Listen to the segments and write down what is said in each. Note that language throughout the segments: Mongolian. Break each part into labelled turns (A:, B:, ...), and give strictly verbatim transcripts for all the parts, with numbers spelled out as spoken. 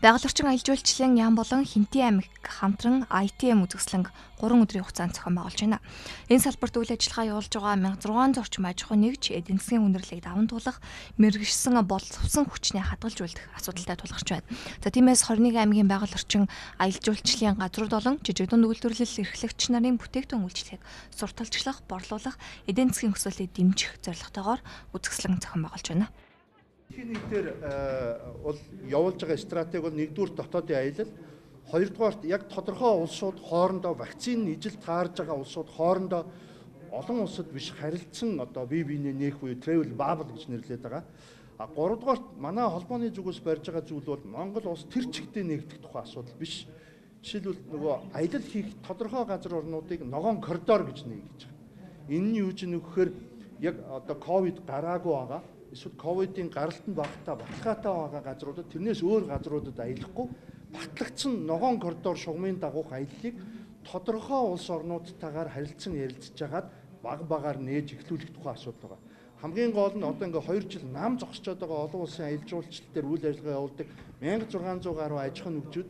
A: Байгаль орчин аялал жуулчлалын яам болон Хинтээ аймаг хамтран ай ти эм үзэсгэлэнг гурван өдрийн хугацаанд зохион байгуулж байна. Энэ салбарт үйл ажиллагаа явуулж байгаа мянга зургаан зорчим аж ахуй нэгж эдийн засгийн үндэрлэлийг даван туулах, мэргэшсэн боловсон хүчний хадгалж үлдэх асуудалтай тулгарч байна. За тиймээс двадцать one аймгийн байгаль орчин аялал жуулчлалын газрууд болон жижиг дунд үйлдвэрлэл эрхлэгч нарын бүтээгдэхүүн үйлчлэгийг сурталчлах, борлуулах, эдийн засгийн өсөлтийг дэмжих зорилготойгоор үзэсгэлэн зохион байгуулж байна.
B: Дэлхийн нийтээр бол явуулж байгаа стратеги бол нэгдүгээр дотоодын аялал, хоёрдугаарт яг тодорхой улсууд хоорондоо вакцины ижил таарж байгаа улсууд хоорондоо олон улсад биш харилцсан одоо бие биенээ нээх буюу travel bubble гэж нэрлэдэг байгаа. А гуравдугаарт манай холбооны зүгээс барьж байгаа зүйл бол Монгол улс тэр чигтээ нэгдэх тухай асуудал биш. Жишээлбэл нөгөө аялал хийх тодорхой газар орнуудыг ногоон коридор гэж нээгдэж байгаа. Энэ нь юу ч нөхөр яг одоо ковид гараагүй байгаа. Эсвэл ковидын гаралтанд багтаа баталгаатай байгаа газруудад тэрнээс өөр газруудад аялахгүй батлагдсан ногоон коридор шугамын дагуух аяллыг тодорхой улс орнуудтайгаар харилцан ярилцж хагаад баг багаар нээж эхлүүлэх тухай асуудал байгаа. Хамгийн гол нь одоо ингээ хоёр жил нам зогсчод байгаа олон улсын аялал жуулчлал дээр үйл ажиллагаа явуулдаг one thousand six hundred гаруй аж ахуйн нэгжүүд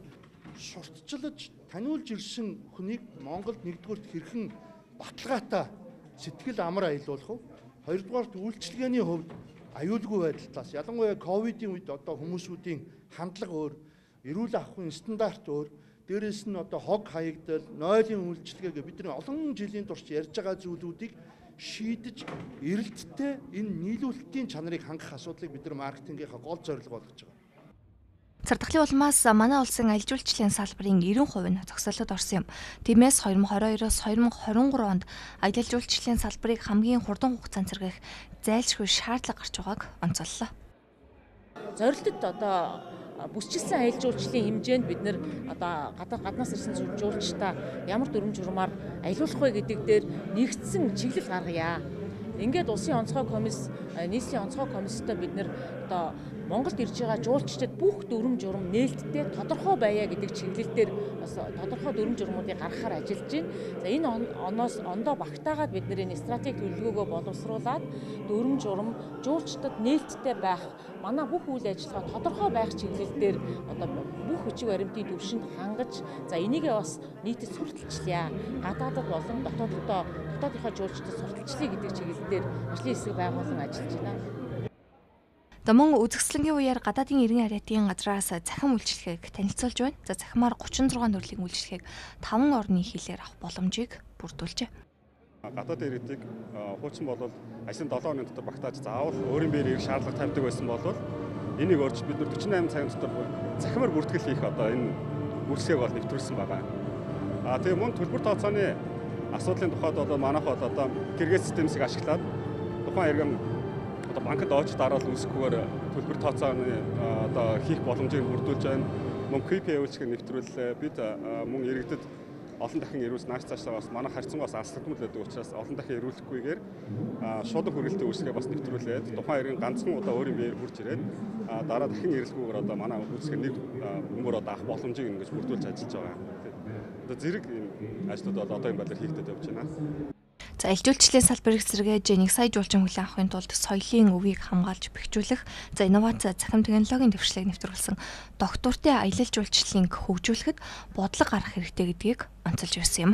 B: сурталчлаж таниулж ирсэн хүнийг Монголд нэгдүгürt хэрхэн баталгаатай сэтгэл амар аялуулах вэ? Хоёрдугаарт үйлчлэгээний хувьд аюулгүй байдлаас ялангуяа ковидын үед одоо хүмүүсүүдийн хандлага өөр, эрүүл ахуйн стандарт өөр, дээрээс нь одоо хог хаягдал, нойлын үйлчлэгээ бидний олон жилийн турш ярьж байгаа зүйлүүдийг шийдэж эрэлттэй энэ нийлүүлэлтийн чанарыг хангах асуудлыг бид нар маркетингийнхаа гол зорилго болгож байгаа.
A: Цардахлын улмаас манай улсын аялал жуулчлалын салбарын ninety percent нь зогсоолод орсон юм. Тиймээс twenty twenty-two-оос twenty twenty-three онд аялал жуулчлалын салбарыг хамгийн хурдан хугацаанд сэргээх зайлшгүй шаардлага гарч байгааг онцоллоо.
C: Зорилтод одоо бүсчилсэн аялал жуулчлалын хэмжээнд бид нэр одоо гаднаас ирсэн жуулчдаа ямар дүрм журмаар аялуулах вэ гэдэг дээр нэгдсэн чиглэл гаргая. Ингээд улсын онцгой комисс, нийслэлийн онцгой комисстой бид нэр одоо Монголд ирж байгаа жуулчдад бүх дүрм журм нээлттэй тодорхой байя гэдэг чиглэлээр бас тодорхой дүрм журмуудыг гаргахаар ажиллаж байна. За энэ оноос ондоо багтаагаад бид нэр энэ стратеги төлөвлөгөөгөө боловсруулад дүрм журм жуулчдад нээлттэй байх манай бүх үйл ажиллагаа тодорхой байх чиглэлээр одоо бүх хүчиг баримтын төвшөнд хангаж за энийгээ бас нийтэд сурталчлая. Гадаадд болон дотооддоо дотоодынхоо жуулчдад сурталчлая гэдэг чиглэлээр ажлын хэсэг байгуулан ажиллаж байна.
A: За мөн үзэсгэлэнгийн үеэр гадаадын иргэн харьяатын газраас захин үйлчлэгийг танилцуулж байна. За захимаар thirty-six төрлийн үйлчлэгийг five орны хилээр авах боломжийг бүрдүүлжээ.
D: Гадаадын иргэдийг хуучин болвол ажлын seven хоногийн дотор багтааж заавал өөрийн биеэр ирэх шаардлага тавьдаг байсан бол энийг өөрч бид forty-eight цагийн дотор захимаар бүртгэл хийх одоо энэ үйлчлэгийг бол нэвтрүүлсэн байгаа. А тэгээ мөн төлбөр тооцооны асуудлын тухайд бол манайх бол одоо гэргээд системсийг ашиглаад тухайн иргэн одоо банкд очиж дараал үүсэхгүйгээр төлбөр тооцооны одоо хийх боломжийг бүрдүүлж байна. Мөн кью пи үйлчлэгийг нэвтрүүлээ. Бид мөн иргэдэд олон дахин ирүүлс нааш цаашаа бас манай харьцангуйс алслагдмал байдаг учраас олон дахин ирүүлэхгүйгээр шуудан хүргэлтийн үйлчлэгээ бас нэвтрүүлээд тухайн иргэн ганцхан удаа өөрийн биеэр хурж ирээд дараа дахин ирэлхгүйгээр одоо манай үйлчлэгээ нэг мөнгөөр одоо авах боломжийг ингэж бүрдүүлж ажиллаж байгаа. Одоо зэрэг энэ ажлууд бол одоо энэ байдлаар хийгдэж явж байна.
A: За аялал жуулчлалын салбарыг сэргээж one сая жуулчин хүлээн авахын тулд соёлын өвийг хамгаалж бэхжүүлэх, за инновац захим технологийн дэвшлийг нэвтрүүлсэн доктортой аялал жуулчлалыг хөгжүүлэхэд бодлого гаргах хэрэгтэй гэдгийг онцолж байсан юм.